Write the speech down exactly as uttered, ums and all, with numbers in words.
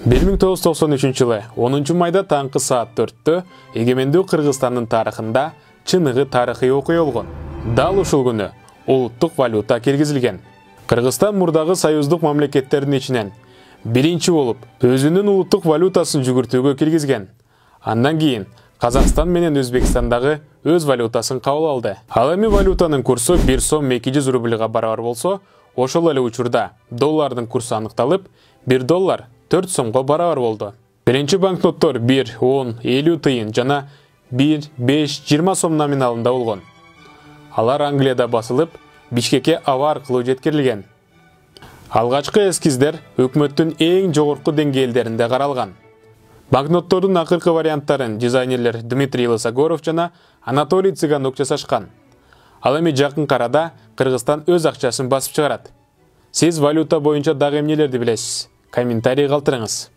бир миң тогуз жүз токсон үчүнчү жылы онунчу майда таңкы саат төрттө эгемендүү Кыргызстандын тарыхында чыныгы тарыхый окуя болгон. Дал ушул күнү улуттук валюта киргизилген. Кыргызстан мурдагы союздук мамлекеттердин ичинен биринчи болуп өзүнүн улуттук валютасын жүгүртүүгө киргизген. Андан кийин Казакстан менен Өзбекстандагы өз валютасын кабыл алды. Ал эми валютанын курсу бир сом эки жүз рубльга барабар болсо, ошол эле учурда доллардын курсу аныкталып, бир доллар төрт сомго барабар болду. Биринчи банкноттор бир, он, элүү тыйын жана бир, беш, жыйырма сом номиналында болгон. Алар Англияда басылып, Бишкекке аба аркылуу жеткирилген. Алгачкы эскиздер өкмөттүн эң жогорку деңгээлдеринде каралган. Банкноттордун акыркы варианттарын дизайнерлер Дмитрий Лысогоров жана Анатолий Цыганок жасашкан. Ал эми жакын арада Кыргызстан өз акчасын басып чыгарат. Сиз валюта боюнча дагы эмнелерди билесиз? Комментарий калтырыңыз.